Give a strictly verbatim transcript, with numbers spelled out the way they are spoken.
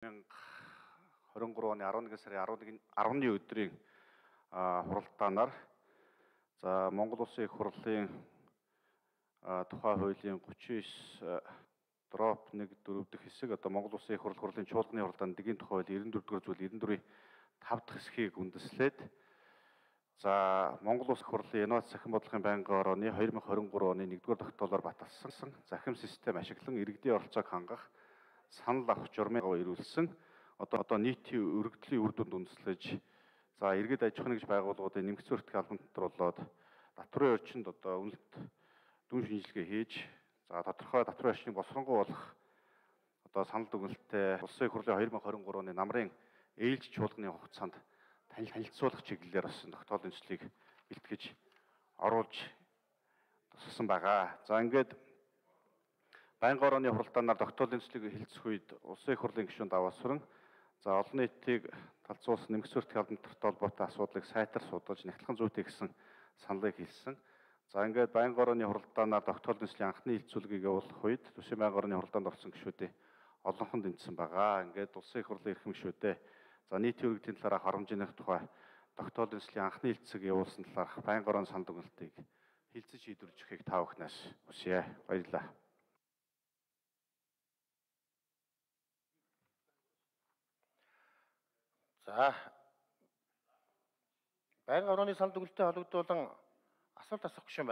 двадцать двадцать три оны арван нэгэн сарын арваны өдрийн хуралдаанаар за Монгол Улсын их хурлын тухай хуулийн гучин девять дробь нэг дөрөв дэх хэсэг одоо Монгол Улсын их хурл хурлын чуулганы хуралдаанд дэгийн тухай хууль девяносто дөрвөр дугаар зүйл девяносто дөрвийн тав дахь хэсгийг үндэслээд за Монгол Улс их хурлын инновац захин бодлогын байнгын орооны две тысячи двадцать три оны нэгдүгээр тогтоолоор баталсан захим систем ашиглан иргэдийн оролцоог хангах санал авах журмыг ирүүлсэн одоо одоо нийтийн өргөдлийн үр дүнд үндэслэж за иргэд аж ахуйн нэгж байгууллагуудын нэмэгдсэн өртгөх албан дотор болоод татврын орчинд одоо үнэлт дүн шинжилгээ хийж за тодорхой татврын орчныг босронгуй болох одоо санал дүгнэлттэй Улсын их хурлын две тысячи двадцать три оны намрын ээлж чуулганы хугацаанд танилцуулах чиглэлээр бас тогтоолын төслийг бэлтгэж оруулж тусгасан байгаа. За ингээд байнгын орооны хуралдаанаар тогтоолын төслийг хэлцэх үед Улсын их хурлын гишүүн даваа сүрэн за олон нийтийг талцуулсан нэмэгдсэн өртгөх албан дотор холбоотой асуудлыг сайтар судалж нягтлан зүйтэй гэсэн саналыг хэлсэн. За ингээд байнгын орооны хуралдаанаар тогтоолын төслийн анхны хилцүүлгийг явуулах үед төсвийн байнгын орооны хуралдаанд орсон гишүүдийн олонхонд дэмжсэн байгаа. Ингээд Улсын их хурлын эрхэм гишүүдээ за нийтийн өргөдлийн талаарх харамжийнх тухай тогтоолын төслийн анхны хилцэг явуулсан талаарх байнгын орооны санал дүгнэлтийг хилцэж шийдвэрлэж өгөхийг та бүхнээс хүсье. Баярлалаа. За байнгын орооны санал дүгнэлтэд холбогдуулан асуулт асуух гишүүн